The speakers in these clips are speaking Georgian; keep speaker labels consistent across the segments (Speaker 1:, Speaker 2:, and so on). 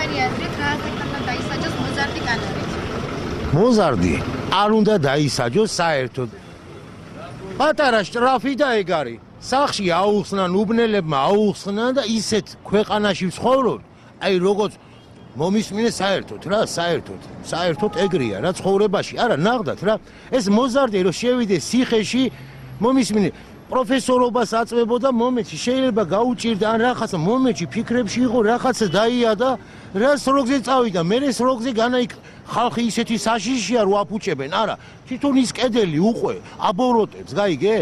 Speaker 1: თქვენი აზრით რა ასაკთან დაისაჯოს მოზარდი კანონით?
Speaker 2: მოზარდი არ უნდა დაისაჯოს საერთოდ. პატარა შტრაფი და ეგ არის. სახში აუხსნან უბნელებმა აუხსნან და ისეთ ქვეყანაში ვცხოვრობ, აი როგორც მომისმინე საერთოდ რა, საერთოდ ეგრეა რა ცხოვრებაში. არა, ნახდათ რა. ეს მოზარდი რომ შევიდეს ციხეში, მომისმინე პროფესორობას აწვებოდა მომენტში, შეიძლება გაუჭირდა ან რაღაცა მომენტში ფიქრებში იყო რაღაცა დაიადა, რა სროგზე წავიდა, მე სროგზე განაიქ ხალხი ისეთი საშიშია რო აფუჭებენ, არა, თვითონ ის კედელი უყვე, აბოროტებს, გაიგე?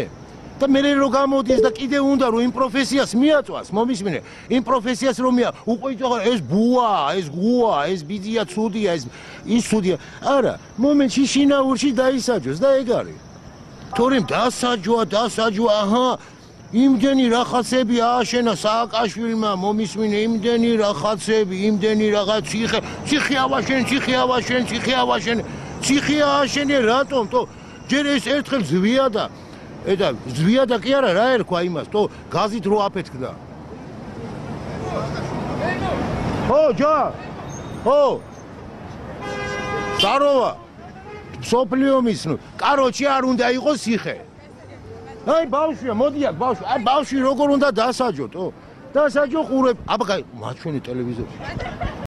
Speaker 2: და მე რო გამოდის და კიდე უნდა რომ იმ პროფესიას მიაწვას, მომისმინე, იმ პროფესიას რომ უკვე ეს ბუა, ეს გუა, ეს ბიძია ცუდია, ის ცუდია. არა, მომენტში შინაურში დაისაჯოს და ეგ არის. თორემ დასაჯვა, აჰა, იმდენი რაღაცები ააშენა სააკაშვილმა, მომისმინე, იმდენი რაღაცები, იმდენი რაღაც ციხე ააშენე, რატომ? თო ჯერ ეს ერთხელ ზვიადა ზვიადა კი არა, რა ერქვა იმას, თო გაზით რო აფეთქდა. ხო, ჯა. ხო. საროვა. სოფლიო მისნუ. კაროჩი არ უნდა იყოს ციხე. აი ბავშვია, მოდი აქ ბავშვი. აი ბავშვი როგორ უნდა დასაჯოთ, ო? დასაჯო ყურებ. აბა, მაჩვენე ტელევიზორში.